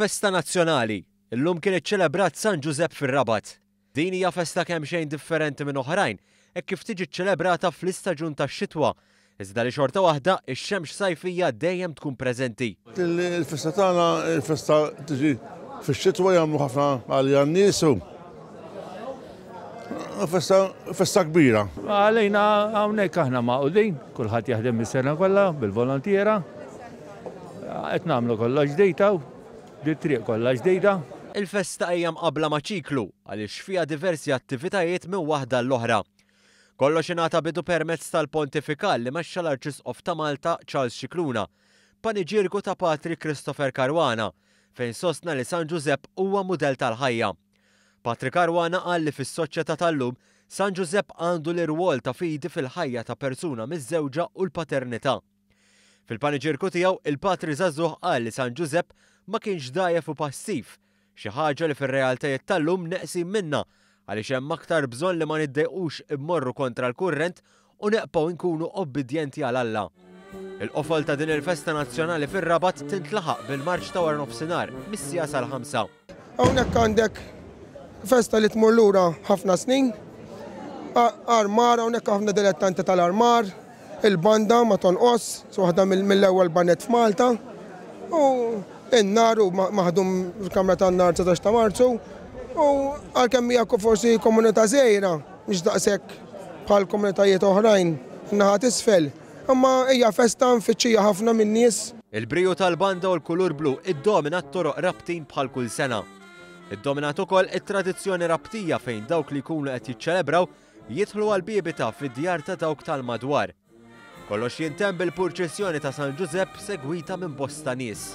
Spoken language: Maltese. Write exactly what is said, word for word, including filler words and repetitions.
Festa nazzjonali. Illum kien iċċelebrat San Ġużepp fir-Rabat. Din hija festa kemm xejn differenti minn oħrajn, hekk kif tiġi ċċelebrata fl-istaġun tax-xitwa, iżda li xorta waħda ix-xemx sajfija dejjem tkun preżenti. Il-festa tagħna, il-festa tiġi fix-xitwa, jagħmlu ħafna għalija n-nies u festa, festa kbira. Għalejna hawnhekk aħna magħqudin, kulħadd jaħdem is-sena kollha bil-volontiera. Qed nagħmlu kollox ġdejta, di triq kollha ġdejda. Il-festa hija mqabbla ma' ċiklu għaliex fiha diversi attivitajiet minn waħda l-oħra. Kollox ingħata bidu permezz tal-pontifikal li mexxa l-Arċisqof ta' Malta Charles Scicluna, paniġierku ta' Patri Christopher Caruana, fejn sostna li San Ġużepp huwa mudell tal-ħajja. Patri Caruana qal li fis-soċjetà tal-lum San Ġużepp għandu l-irwol ta' fidi fil-ħajja ta' persuna miżżewġa u l-paternità. Fil-paniġierku tiegħu il-Patri żagħżugħ qal li San Ġużepp ma kienx dgħajjef u passiv, xi ħaġa li fir-realtajiet tal-lum neqsin minna għaliex hemm aktar bżonn li ma niddejqux immorru kontra l-kurrent u neqpaw inkunu obbedjenti għal Alla. Il-qofol ta' din il-festa nazzjonali fir-Rabat tintlaħaq bil-marċ ta' wara nofsinhar mis-siegħa sal-ħamsa. Hawnhekk għandek festa li tmur lura ħafna snin. Armar, hawnhekk ħafna dilettanti tal-armar, il-banda ma tonqos, waħda mill-ewwel baned f'Malta. U in-nar u maħdum fil-Kamra tan-Nar dsatax ta' Marzu. U għalkemm hija forsi komunità żgħira, mhix daqshekk bħal komunitajiet oħrajn naħa t'isfel, imma hija festa mfittxija ħafna min-nies. Il-briju tal-banda u l-kulur blu iddomina t-toroq Rabtin bħal kull sena. Iddominat ukoll it-tradizzjoni Rabtija fejn dawk li jkunu qed jiċċelebraw jidħlu għal bibita fid-djar ta' dawk tal-madwar. Kollox jintemm bil-purċissjoni ta' San Ġużepp segwita minn bosta nies.